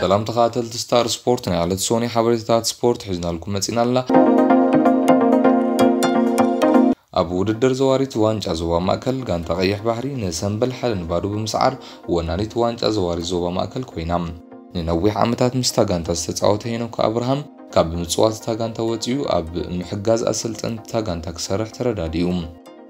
ሰላም ተኸታተልቲ ስታር ስፖርት፣ ናይ ዕለት ሶኒ ሓበሬታታት ስፖርት ሒዝናልኩም መጺና ኣለና። ኣብ ውድድር ዘዋሪት ዋንጫ ዞባ ማእከል፣ ጋንታ ቀይሕ ባሕሪ ንሰምበል ሓደ ንባዶ ብምስዓር ወናኒት ዋንጫ ዘዋሪት ዞባ ማእከል ኮይና። ንነዊሕ ዓመታት ምስታ ጋንታ ዝተጻወተ ሄኖክ ኣብርሃም፣ ካብ ምጽዋት እታ ጋንታ ወጺኡ ኣብ ምሕጋዝ ኣሰልጠንቲ እታ ጋንታ ክሰርሕ ተረዳዲኡ።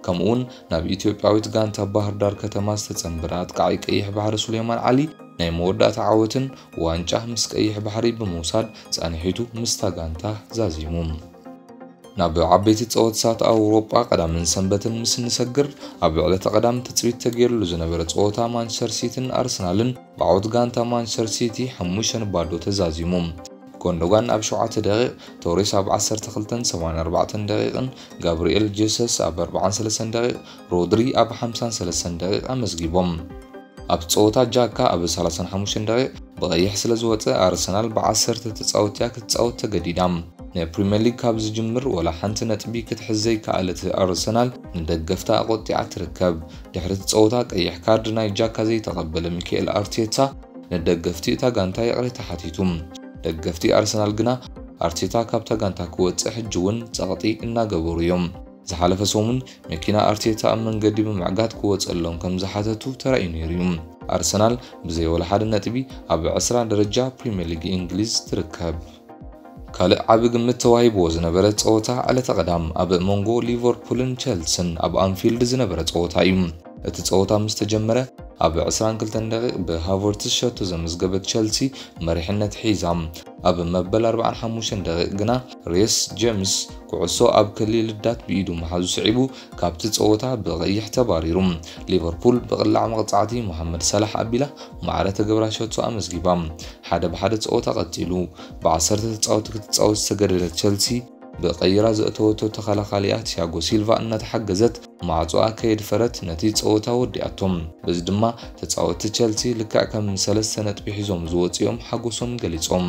ከምኡውን ናብ ኢትዮጵያዊት ጋንታ ባህር ዳር ከተማ ዝተጸንበረ ኣጥቃዒ ቀይሕ ባሕሪ ሱሌማን ዓሊ፣ ናይ መወዳእታ ዓወትን ዋንጫ ምስ ቀይሕ ባሕሪ ብምውሳድ ጻንሒቱ ምስታ ጋንታ ዛዚሙ። ናብ ዓበይቲ ጸወታታት ኣውሮጳ ቀዳምን ሰንበትን ምስ እንሰግር፣ ኣብ ዕለተ ቀዳም ትጽቢት ተገይሩሉ ዝነበረ ጸወታ ማንቸስተር ሲቲን ኣርሰናልን ብዓወት ጋንታ ማንቸስተር ሲቲ ሓሙሽተ ንባዶ ተዛዚሙ። ጎንዶጋን ኣብ ሸውዓተ ደቂቕ፣ ቶሬስ ኣብ ዓሰርተ ክልተን ሰብዓን ኣርባዕተን ደቂቕን፣ ጋብርኤል ጄሰስ ኣብ ኣርባዓን ሰለስተን ደቂቕ፣ ሮድሪ ኣብ ሓምሳን ሰለስተን ደቂቕ ኣመዝጊቦም። ኣብ ጸወታ ጃካ ኣብ ሰላሳን ሓሙሽተን ደቂቕ ብቐይሕ ስለ ዝወጸ፣ ኣርሰናል ብዓሰርተ ተጻወትቲ እያ ክትጻወት ተገዲዳ። ንፕሪምየር ሊግ ካብ ዝጅምር ወላ ሓንቲ ነጥቢ ክትሕዝ ዘይከኣለት ኣርሰናል ንደገፍታ ኣቖጢዓ ትርከብ። ድሕሪ እቲ ጸወታ ቀይሕ ካርድ ናይ ጃካ ዘይተቐበለ ሚካኤል ኣርቴታ ንደገፍቲ እታ ጋንታ ይቕሬታ ሓቲቱ። ደገፍቲ ኣርሰናል ግና ኣርቴታ ካብታ ጋንታ ክወጽእ ሕጂ እውን ጸቕጢ እናገበሩ እዮም። ዝሓለፈ ሰሙን መኪና ኣርቴታ ኣብ መንገዲ ብምዕጋት ክወጸሎም ከም ዝሓተቱ ተራእዩ ነይሩ እዩ። ኣርሰናል ብዘይ ወላ ሓደ ነጥቢ ኣብ ዕስራ ደረጃ ፕሪምየር ሊግ እንግሊዝ ትርከብ። ካልእ ዓቢ ግምት ተዋሂብዎ ዝነበረ ጸወታ ዕለተ ቀዳም ኣብ መንጎ ሊቨርፑልን ቸልስን ኣብ ኣንፊልድ ዝነበረ ጸወታ እዩ። እቲ ጸወታ ምስ ተጀመረ፣ ኣብ ዕስራን ክልተን ደቂቕ ብሃቨርትስ ሸቶ ዘመዝገበት ቸልሲ መሪሕነት ሒዛ። ኣብ መበል ኣርባዓን ሓሙሽተን ደቂቕ ግና ሬስ ጀምስ ኩዕሶ ኣብ ክሊ ልዳት ብኢዱ ምሓዙ ስዒቡ ካብቲ ጸወታ ብቐይሕ ተባሪሩ። ሊቨርፑል ብቕላዕ መቕጻዕቲ ሞሓመድ ሳላሕ ኣቢላ ማዕረ ተገብራ ሸቶ ኣመዝጊባ። ሓደ ብሓደ ጸወታ ቀጺሉ። ብዓሰርተ ተጻወቲ ክትጻወት ዝተገደደት ቸልሲ ብቐይራ ዘእተወቶ ተኸላኻሊኣ ቲያጎ ሲልቫ እናተሓገዘት ማዕጾኣ ከየድፈረት ነቲ ጸወታ ወዲኣቶ። በዚ ድማ ተጻወትቲ ቸልሲ ልክዕ ከም ሰለስተ ነጥቢ ሒዞም ዝወጽኦም ሓጎሶም ገሊጾም።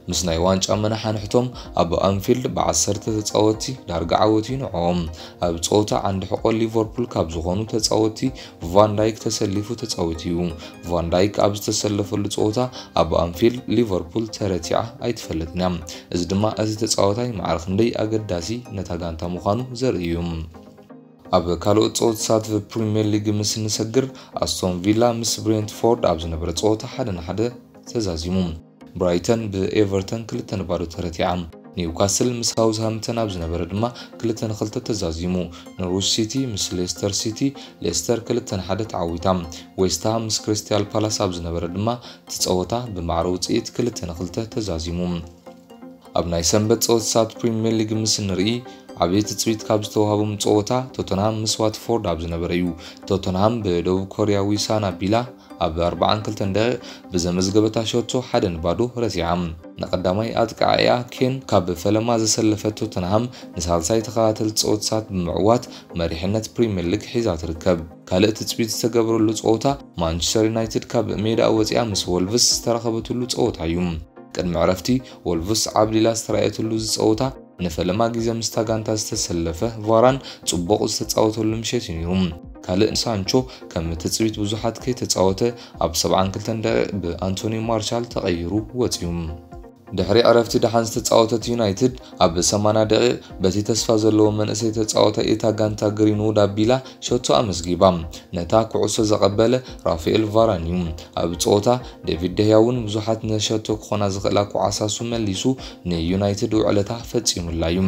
ምስ ናይ ዋንጫ መናሓንሕቶም ኣብ ኣንፊልድ ብዓሰርተ ተጻወትቲ ዳርጋ ዓወት እዩ ንዕኦም። ኣብ ጸወታ ዓንዲ ሕቖ ሊቨርፑል ካብ ዝኾኑ ተጻወትቲ ቫን ዳይክ ተሰሊፉ ተጻዊቱ እዩ። ቫን ዳይክ ኣብ ዝተሰለፈሉ ጸወታ ኣብ ኣንፊልድ ሊቨርፑል ተረቲዓ ኣይትፈልጥን እያ። እዚ ድማ እቲ ተጻዋታይ ማዕረ ክንደይ ኣገዳሲ ነታ ጋንታ ምዃኑ ዘርኢ እዩ። ኣብ ካልኦት ጸወታታት ፕሪምየር ሊግ ምስ እንሰግር፣ ኣስቶን ቪላ ምስ ብሬንትፎርድ ኣብ ዝነበረ ጸወታ ሓደ ንሓደ ተዛዚሙ። ብራይተን ብኤቨርተን ክልተ ንባዶ ተረቲዓ። ኒውካስል ምስ ሳውዝሃምፕተን ኣብ ዝነበረ ድማ ክልተ ንክልተ ተዛዚሙ። ኖርዊች ሲቲ ምስ ሌስተር ሲቲ፣ ሌስተር ክልተ ንሓደ ተዓዊታ። ዌስትሃም ምስ ክሪስታል ፓላስ ኣብ ዝነበረ ድማ እቲ ጸወታ ብማዕረ ውጽኢት ክልተ ንክልተ ተዛዚሙ። ኣብ ናይ ሰንበት ጸወታታት ፕሪምየር ሊግ ምስ እንርኢ፣ ዓብዪ ትጽቢት ካብ ዝተዋህቦም ጸወታ ቶተንሃም ምስ ዋትፎርድ ኣብ ዝነበረ እዩ። ቶተንሃም ብደቡብ ኮርያዊ ሳና ቢላ ኣብ ኣርባዓን ክልተን ደቂቕ ብዘመዝገበታ ሸቶ ሓደ ንባዶ ረቲዓ። ንቐዳማይ ኣጥቃዓያ ኬን ካብ ፈለማ ዘሰለፈት ቶተንሃም ንሳልሳይ ተኸታተልቲ ጸወታታት ብምዕዋት መሪሕነት ፕሪምየር ሊግ ሒዛ ትርከብ። ካልእ ትጽቢት ዝተገብረሉ ጸወታ ማንቸስተር ዩናይትድ ካብ ሜዳኣ ወጺኣ ምስ ወልቭስ ዝተራኸበትሉ ጸወታ እዩ። ቅድሚ ዕረፍቲ፣ ወልቭስ ዓብሊላ ዝተራእየትሉ እዚ ጸወታ ንፈለማ ግዜ ምስታ ጋንታ ዝተሰለፈ ቫራን ጽቡቕ ዝተጻወተሉ ምሸት እዩ ነይሩ። ካልእ ሳንቾ ከም ትጽቢት ብዙሓት ከይተጻወተ ኣብ ሰብዓን ክልተን ደቂቕ ብኣንቶኒ ማርሻል ተቐይሩ ወጺኡ። ድሕሪ ዕረፍቲ ደሓን ዝተጻወተት ዩናይትድ ኣብ ሰማንያ ደቂቕ በቲ ተስፋ ዘለዎ መንእሰይ ተጻዋታይ እታ ጋንታ ግሪንውድ ኣቢላ ሸቶ ኣመዝጊባ። ነታ ኩዕሶ ዘቐበለ ራፋኤል ቫራን እዩ። ኣብ ጸወታ ዴቪድ ደህያ እውን ብዙሓት ንሸቶ ክኾና ዝኽእላ ኳዕሳሱ መሊሱ ንዩናይትድ ውዕለታ ፈጺሙላ እዩ።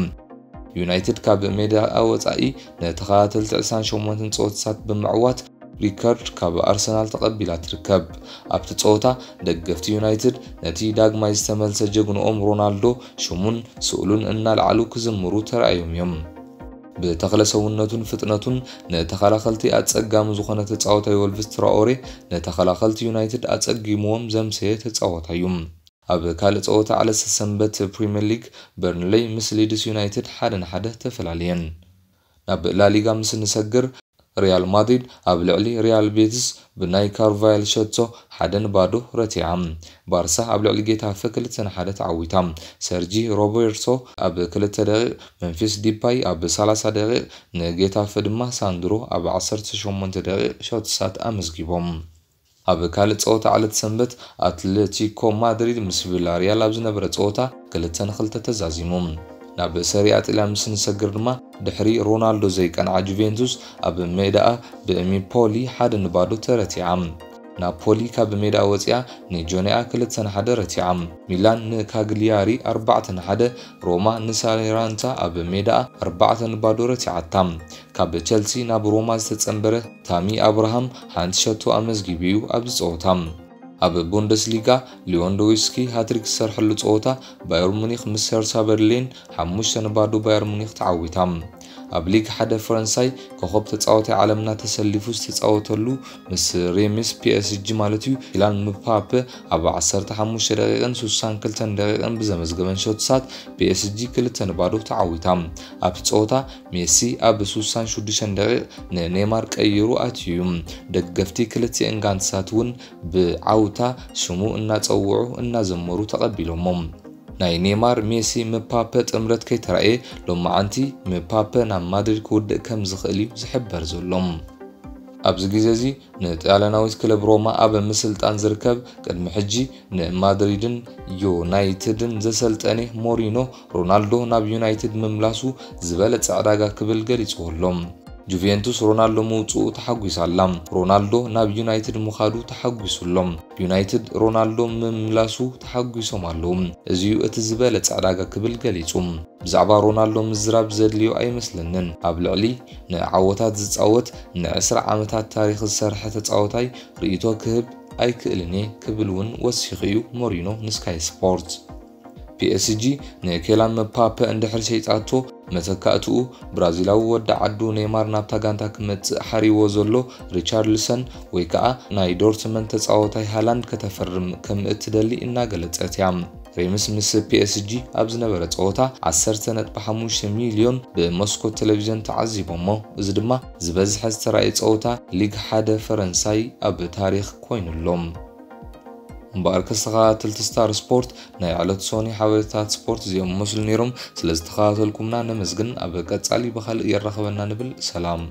ዩናይትድ ካብ ሜዳኣ ወጻኢ ንተኸታተልቲ ዕስራን ሸሞንተን ጸወታታት ብምዕዋት ሪከርድ ካብ ኣርሰናል ተቐቢላ ትርከብ። ኣብቲ ጸወታ ደገፍቲ ዩናይትድ ነቲ ዳግማይ ዝተመልሰ ጀግንኦም ሮናልዶ ሽሙን ስእሉን እናልዓሉ ክዝምሩ ተራእዮም እዮም። ብተኽለ ሰውነቱን ፍጥነቱን ንተኸላኸልቲ ኣጸጋሚ ዝኾነ ተጻዋታይ ወልቭስ ትራኦሬ ንተኸላኸልቲ ዩናይትድ ኣጸጊምዎም ዘምሰየ ተጻዋታይ እዩ። ኣብ ካልእ ጸወታ ዕለተ ሰንበት ፕሪምየር ሊግ በርንሌይ ምስ ሊድስ ዩናይትድ ሓደ ንሓደ ተፈላለየን። ናብ ላሊጋ ምስ እንሰግር ሪያል ማድሪድ ኣብ ልዕሊ ሪያል ቤቲስ ብናይ ካርቫያል ሸቶ ሓደ ንባዶ ረቲዓ። ባርሳ ኣብ ልዕሊ ጌታፈ ክልተ ንሓደ ተዓዊታ። ሰርጂ ሮቤርቶ ኣብ ክልተ ደቂቕ፣ መምፊስ ዲፓይ ኣብ ሰላሳ ደቂቕ፣ ንጌታፈ ድማ ሳንድሮ ኣብ ዓሰርተ ሸሞንተ ደቂቕ ሸቶታት ኣመዝጊቦም። ኣብ ካልእ ጸወታ ዕለት ሰንበት ኣትሌቲኮ ማድሪድ ምስ ቪላሪያል ኣብ ዝነበረ ጸወታ ክልተ ንክልተ ተዛዚሙ። ናብ ሰሪኣ ጥልያን ምስ ንሰግር ድማ ድሕሪ ሮናልዶ ዘይቀንዓ ጁቬንቱስ ኣብ ሜዳኣ ብሚፖሊ ሓደ ንባዶ ተረቲዓ። ናፖሊ ካብ ሜዳ ወፂኣ ንጆኒኣ ክልተ ንሓደ ረቲዓ። ሚላን ንካግሊያሪ ኣርባዕተ ንሓደ፣ ሮማ ንሳሌራንታ ኣብ ሜዳኣ ኣርባዕተ ንባዶ ረቲዓታ። ካብ ቸልሲ ናብ ሮማ ዝተጸንበረ ታሚ ኣብርሃም ሓንቲ ሸቶ ኣመዝጊቡ እዩ ኣብዚ ጸወታ። ኣብ ቡንደስሊጋ ሊዮንዶዊስኪ ሃትሪክ ዝሰርሐሉ ጸወታ ባየር ሙኒክ ምስ ሄርሳ በርሊን ሓሙሽተ ንባዶ ባየር ሙኒክ ተዓዊታ። ኣብ ሊግ ሓደ ፈረንሳይ ኮኸብ ተጻዋታይ ዓለምና ተሰሊፉ ዝተጻወተሉ ምስ ሬምስ ፒኤስጂ ማለት እዩ ኪላን ምፓፔ ኣብ ዓሰርተ ሓሙሽተ ደቂቕን ስሳን ክልተን ደቂቕን ብዘመዝገበን ሸቶታት ፒኤስጂ ክልተ ንባዶ ተዓዊታ። ኣብቲ ጸወታ ሜሲ ኣብ ስሳን ሽዱሽተን ደቂቕ ንኔማር ቀይሩ ኣትዩ እዩ። ደገፍቲ ክልቲኤን ጋንትታት እውን ብዓውታ ሽሙ እናጸውዑ እናዘመሩ ተቐቢሎሞ። ናይ ኔማር ሜሲ ምፓፔ ጥምረት ከይተራእየ ሎማዓንቲ ምፓፔ ናብ ማድሪድ ክውድእ ከም ዝኽእል እዩ ዝሕበር ዘሎ። ኣብዚ ግዜ እዚ ንጣልያናዊት ክለብ ሮማ ኣብ ምስልጣን ዝርከብ ቅድሚ ሕጂ ንማድሪድን ዩናይትድን ዘሰልጠነ ሞሪኖ ሮናልዶ ናብ ዩናይትድ ምምላሱ ዝበለጸ ዕዳጋ ክብል ገሊጽዎ ኣሎ። ጁቬንቱስ ሮናልዶ ምውጽኡ ተሓጒሳ ኣላ። ሮናልዶ ናብ ዩናይትድ ምኻዱ ተሓጒሱ ኣሎ። ዩናይትድ ሮናልዶ ምምላሱ ተሓጒሶም ኣለዉ። እዚዩ እቲ ዝበለጸ ዕዳጋ ክብል ገሊጹ። ብዛዕባ ሮናልዶ ምዝራብ ዘድልዮ ኣይመስለንን። ኣብ ልዕሊ ንዓወታት ዝጻወት ንዕስራ ዓመታት ታሪኽ ዝሰርሐ ተጻወታይ ርእይቶ ክህብ ኣይክእልን እየ ክብል እውን ወሲኹ እዩ ሞሪኖ ንስካይ ስፖርት። ፒኤስጂ ንኬላን ምፓፔ እንድሕር ሸይጣቶ መተካእትኡ ብራዚላዊ ወዲ ዓዱ ኔማር ናብታ ጋንታ ክመጽእ ሓሪዎ ዘሎ ሪቻርልሰን ወይ ከዓ ናይ ዶርትመንድ ተጻዋታይ ሃላንድ ከተፈርም ከም እትደሊ እናገለጸት እያ። ሬምስ ምስ ፒኤስጂ ኣብ ዝነበረ ጸወታ ዓሰርተ ነጥቢ ሓሙሽተ ሚልዮን ብመስኮት ቴሌቪዥን ተዓዚቦሞ። እዚ ድማ ዝበዝሐ ዝተራእየ ጸወታ ሊግ ሓደ ፈረንሳይ ኣብ ታሪኽ ኮይኑሎም። እምበኣር ከስተኻተልቲ ስታር ስፖርት ናይ ዕለት ሶኒ ሓበሬታት ስፖርት እዚኦም መስሉ ነይሮም። ስለ ዝተኸታተልኩምና ነመስግን። ኣብ ቀጻሊ ብኻልእ የራኸበና ንብል። ሰላም።